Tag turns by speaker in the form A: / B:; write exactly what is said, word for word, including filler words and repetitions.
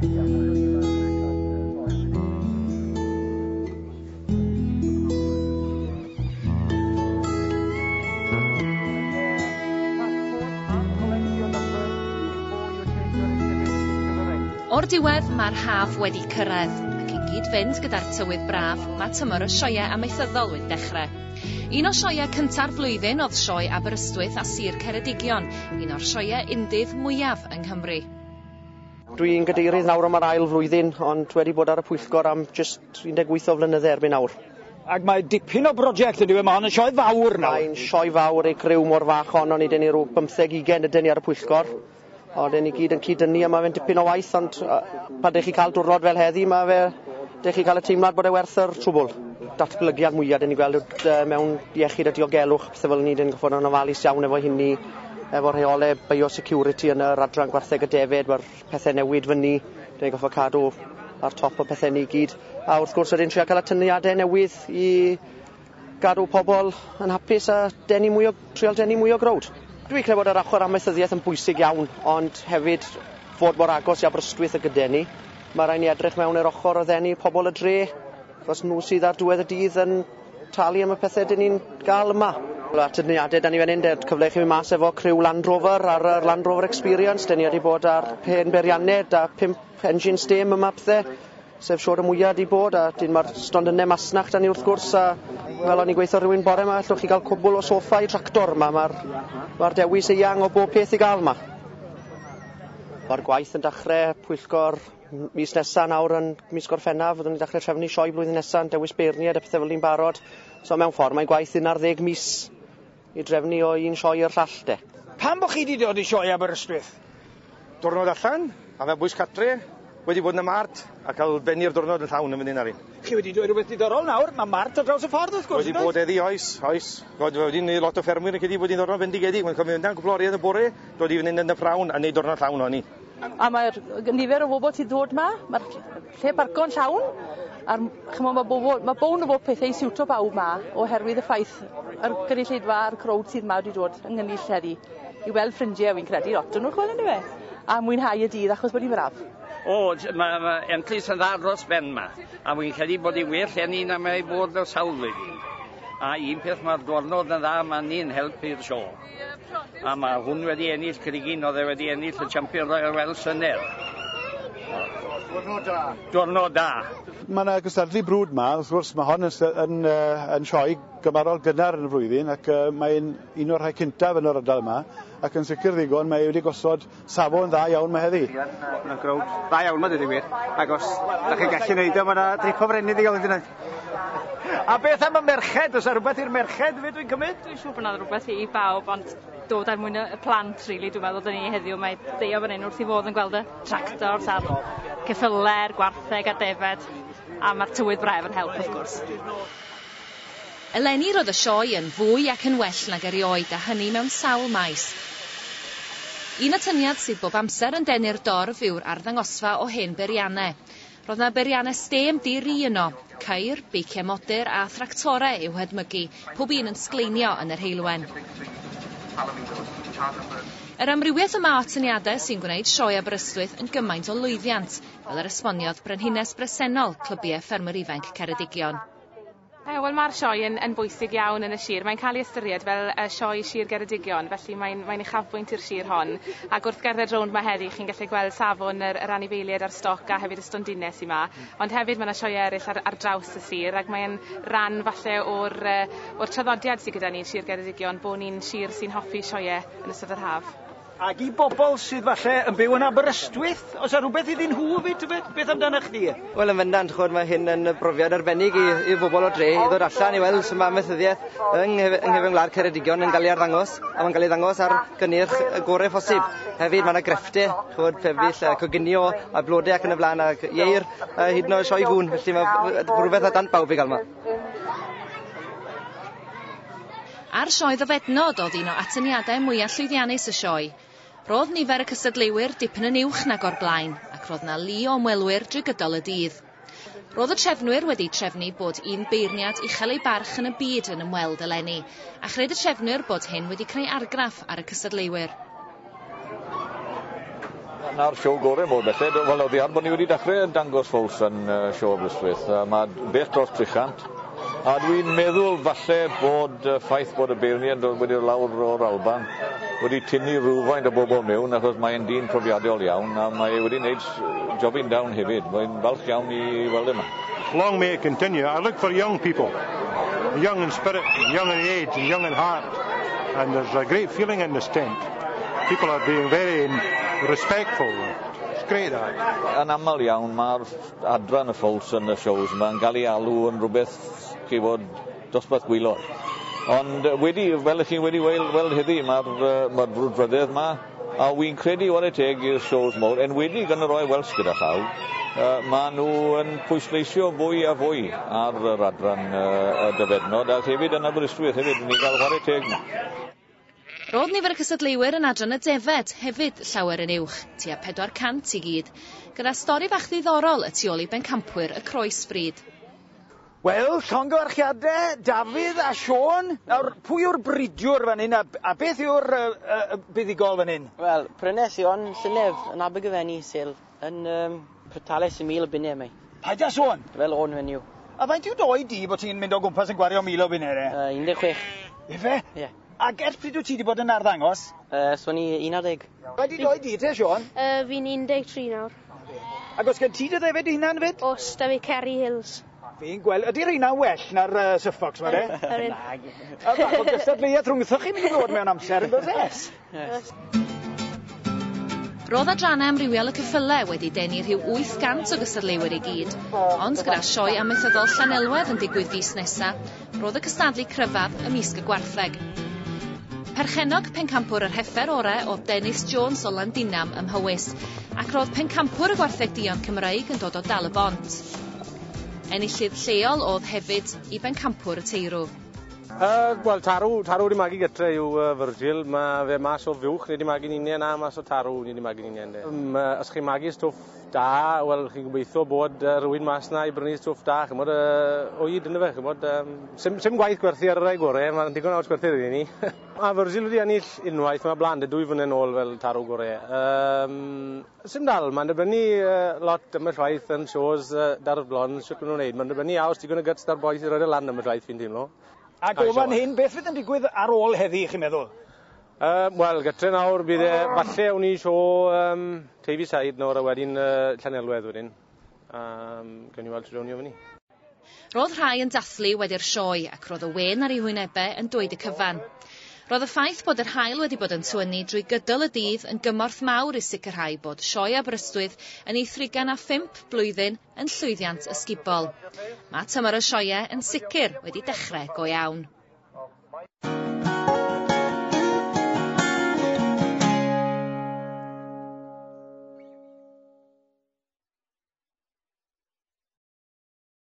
A: O'r diwedd, mae'r haf wedi cyrraedd, ac i gyd-fynd gyda'r tywydd braf, mae tymor y sioeau amaethyddol wedi dechrau. Un o sioeau cynta'r flwyddyn oedd Sioe Aberystwyth a Sir Ceredigion, un o'r sioeau undydd mwyaf yng Nghymru.
B: Dwi'n gadeirydd nawr am yr ail flwyddyn, ond wedi bod ar y pwyllgor am jyst un deg wyth o flynydde erbyn nawr.
C: Ac mae dipyn o brosiect ydyw e, mae hon yn sioe fawr nawr.
B: Mae'n sioe fawr ei criw mor fach honno, ni dyn ni rhyw bymtheg ugain ydyn ni ar y pwyllgor. Ond ni gyd yn cyd-dynnu a mae fe'n dipyn o waith, ond uh, pan dych chi cael diwrnod fel heddi, mae fe, dych chi cael y teimlad bod e werth yr trwbl. Datblygiad mwyaf dyn ni gweld uh, mewn iechyd a diogelwch, pethau fel ni, dyn ni'n gorfod yn ofalus iawn efo hynny, efo rheolau biosecurity yn yr adran gwartheg y defed, mae'r pethau newid fyny, dyn ni'n gorfod cadw ar top o pethau ni gyd. A wrth gwrs ydyn trio cael atyniadau newydd i gadw pobl yn hapus a denu mwy o, trial denu mwy o growd. Dwi'n credu bod yr ochr amaethyddiaeth yn bwysig iawn, ond hefyd fod mor agos i Aberystwyth y gyda ni. Mae rhaid ni edrych mewn i'r ochr o ddenu pobl y dre, achos nhw sydd ar diwedd y dydd yn talu am y pethau dyn ni'n gael yma. Atyniadau da ni fan hyn, cyfle i chi mynd mas efo criw Land Rover ar yr Land Rover Experience. Dyn ni wedi bod ar hen beiriannau a pump engine steam yma pethau, sef siwr y mwyaf di bod, a dyn mae'r stondynau masnach da ni wrth gwrs, a fel o'n i'n gweithio rhywun bore yma, allwch chi gael cwbl o soffa i tractor yma, mae'r ma dewis eang o bob peth i gael yma. Mae'r gwaith yn dechrau pwyllgor mis nesaf nawr yn mis Gorffennaf, fyddwn ni'n dechrau trefnu sioe blwyddyn nesaf, yn dewis beirniaid a pethau fel ni'n barod. So mewn ffordd mae'n gwaith un ar ddeg mis i drefnu o un sioe i'r llall de.
C: Pam bo chi wedi dod i sioe Aberystwyth?
D: Diwrnod allan, a fe bwys catre, wedi bod yn y mart a cael bennu'r diwrnod yn llawn yn fan hyn ar un.
C: Chi wedi dweud rhywbeth diddorol nawr, mae mart ar draws y ffordd wrth gwrs.
D: Wedi bod heddi, oes, oes. Wedi neud lot o ffermwyr yn credu bod hi'n ddiwrnod bendigedig. Mae'n cofio mynd am gwpl o oriau yn y bore, dod i fan hyn yn y prawn a neud diwrnod llawn ohoni.
E: A mae'r nifer o bobl sy'n dod ma, mae'r lle barco'n llawn, a'r chymod, mae bobl, mae bown o bob pethau i siwto bawb ma, oherwydd y ffaith yr gynulleidfa a'r crowd sydd ma wedi dod yng ngynnull heddi i weld ffrindiau, fi'n credu, lot o'n nhw chwel yn yw, a mwynhau y dydd achos bod hi'n braf.
F: O, mae ma Enllis yn dda dros ben ma, a wy'n credu bod hi'n well enni na mae bod y sawl flwyddyn. A un peth mae'r diwrnod yn dda, mae ni'n helpu'r sio. A mae hwn wedi ennill Crigin, oedd e wedi ennill y Champion Royal Welsh llynedd.
D: Diwrnod da.
F: Diwrnod da.
G: Mae yna gystadlu brwd ma, wrth gwrs mae hon yn, yn, yn sioe gymarol gynnar yn y flwyddyn, ac uh, mae'n un o'r rhai cyntaf yn yr ardal yma, ac yn sicr ddigon mae wedi gosod safon dda iawn mae heddi.
H: Mae'n growd dda iawn ma, dweud y gwir, ac os da chi'n gallu neud o, mae yna drip o frennydd i gael ei wneud.
C: A beth am y merched? Oes yna rhywbeth i'r merched fyd dwi'n cymryd?
I: Dwi'n siŵr bod yna rhywbeth i bawb, ond dod er mwyn y plant, really, dwi'n meddwl, dyn ni heddiw, mae Deio fan hyn wrth i fod yn gweld y tractors a'r ceffyle'r gwartheg a defed, a mae'r tywydd braf yn help, wrth gwrs.
A: Eleni roedd y sioe yn fwy ac yn well nag erioed, a hynny mewn sawl maes. Un atyniad sydd bob amser yn denu'r dorf yw'r arddangosfa o hen beiriannau. Roedd yna beiriannau stêm di-ri yno, ceir, beiciau modur a thractorau i'w hedmygu, pob un yn sgleinio yn yr heulwen. Yr amrywiaeth yma o atyniadau sy'n gwneud Sioe Aberystwyth yn gymaint o lwyddiant, fel yr esboniodd brenhines bresennol Clybiau Ffermwyr Ifanc Ceredigion.
J: Wel, mae'r sioe yn, yn bwysig iawn yn y sir. Mae'n cael ei ystyried fel uh, sioe Sir Geredigion, felly mae'n mae uchafbwynt i'r sir hon. Ac wrth gerdded rownd ma heddi, chi'n gallu gweld safon yr, yr anifeiliaid a'r stoc a hefyd y stondinau sy'n ma. Ond hefyd mae yna sioe eraill ar, ar draws y sir, ac mae'n ran falle o'r, uh, o'r traddodiad sydd gyda ni yn Sir Geredigion, bod ni'n sir sy'n hoffi sioeau yn ystod yr haf.
C: Ac i bobl sydd falle yn byw yn Aberystwyth, oes yna rhywbeth iddyn nhw fyd, beth, beth amdanoch chdi?
H: Wel, yn bendant, chwod, mae hyn yn brofiad arbennig i, i bobl o dre i ddod allan i weld sut mae amaethyddiaeth yng nghefn gwlad Ceredigion yn cael ei arddangos, a mae'n cael ei ddangos ar gynnyrch y gorau phosib. Hefyd, mae yna grefftau, chwod, pebyll, coginio a blodau ac yn y blaen, ac ieir, a hyd yn oed sioe gŵn, felly mae rhywbeth at dant bawb i gael yma.
A: Ar sioe ddofednod oedd un o atyniadau mwyaf llwyddiannus y sioe. Roedd nifer y cystadleuwyr dipyn yn uwch nag o'r blaen, ac roedd na lu o ymwelwyr drwy gydol y dydd. Roedd y trefnwyr wedi trefnu bod un beirniad uchel ei barch yn y byd yn ymweld eleni, a chred y trefnwyr bod hyn wedi creu argraff ar y cystadleuwyr.
K: Dyna'r siow gorau mor belled. Wel, oddi ar bod ni wedi dechrau dangos ffowls yn uh, siow Aberystwyth. Uh, mae bell dros tri chant. A dwi'n meddwl falle bod y ffaith bod y beirniad wedi dod lawr o'r Alban wedi tynnu rhywfaint o bobl mewn, achos mae'n dyn profiadol iawn a mae wedi gwneud jobyn down hefyd. Mae'n falch iawn i weld yma.
L: Long may it continue. I look for young people, young in spirit, young in age and young in heart. And there's a great feeling in this tent. People are being very respectful. It's great, that.
K: Yn aml iawn mae'r adran y ffowls yn y shows yma yn cael ei alw yn rhywbeth chi fod dosbarth gwaelod. Ond wedi, fel ych chi wedi weld, weld heddi, mae'r uh, ma brwdfrydedd yma, a wy'n credu whare teg i'r shows mawr, enwedig yn y Royal Welsh gyda llaw, uh, maen nhw yn pwysleisio fwy a fwy ar yr adran uh, y dofednod, a hefyd yn Aberystwyth hefyd, ni'n cael whare teg nhw.
A: Roedd nifer y cystadleuwyr yn adran y defed hefyd llawer yn uwch, tua pedwar cant i gyd, gyda stori fach ddiddorol y tu ôl i bencampwyr y croesbrid.
C: Wel, llongyfarchiadau, Dafydd a Siôn. Nawr, pwy yw'r bridiwr fan hyn a, a beth yw'r uh, uh, buddugol fan hyn?
M: Wel, prynes i hon llynedd yn Abergavenny sale yn um, tales i mil o bunnau mi.
C: Paid â sôn?
M: Fel o'n fenyw.
C: A faint yw d'oed di bod ti'n mynd o gwmpas yn gwario mil o bunnau?
M: Uh, un deg chwech.
C: Ife?
M: Ie. Yeah.
C: Ac ers pryd wyt ti wedi bod yn arddangos?
M: Uh, so ni un ar ddeg.
C: Faint yw d'oed di te, Siôn?
N: Uh, fi'n un deg tri nawr.
C: Ac os gen ti dy ddefed dy hunan fyd?
N: Os, da fi Kerry Hills.
C: Fi'n gweld, ydy rheina'n well na'r uh, Suffolks ma, de?
N: Ydyn.
C: A bach o gystadleuaeth rhwngthoch chi'n mynd i ddod mewn amser, yn does e?
M: Yes.
A: Roedd adrannau amrywiol y ceffylau wedi denu rhyw wyth gant o gystadleuwyr i gyd, ond gyda sioe amaethyddol Llanelwedd yn digwydd fis nesa, roedd y cystadlu cryfaf ymysg y gwartheg. Perchennog pencampwr yr heffer orau oedd Dennis Jones o Landinam ym Mhowys, ac roedd pencampwr y gwartheg duon Cymreig yn dod o Dal y Bont. Enillydd lleol oedd hefyd i bencampwr y teirw.
O: Uh, Wel, tarw, tarw wedi magu gytre yw uh, Virgil. Mae fe mas o fuwch, ni wedi magu'n unen, a mas o tarw, ni wedi magu'n unen. Um, uh, os chi'n magu stwff da, wel, chi'n gobeithio bod uh, rhywun mas na i brynu stwff da, chymod, uh, oed yna fe, chymod, um, sim, sim gwaith gwerthu ar y rai gorau, mae'n digon awr gwerthu iddyn ni. A Virgil wedi ennill unwaith, mae blaen, dwy flynedd nôl fel tarw gorau. Um, sim dal, mae'n dibynnu uh, lot am y llwaith yn shows uh, da'r blond, sut maen nhw'n neud. Mae'n dibynnu aws digon o guts da'r boys i roed y lan am y llwaith fi'n teimlo.
C: Ac o fan hyn, beth fydd yn digwydd ar ôl heddi, chi'n meddwl?
O: Uh, Wel, gytre nawr, bydd e, falle awn ni sio um, Teifi Said nawr a wedyn uh, Llanelwedd wedyn. Um, Gawn ni weld sut awn ni o fyny.
A: Roedd rhai yn dathlu wedi'r sioe ac roedd y wên ar eu hwynebau yn dweud y cyfan. Roedd y ffaith bod yr haul wedi bod yn tywynnu drwy gydol y dydd yn gymorth mawr i sicrhau bod sioe Aberystwyth yn ei thrigain a phump blwyddyn yn llwyddiant ysgubol. Mae tymor y sioeau yn sicr wedi dechrau go iawn.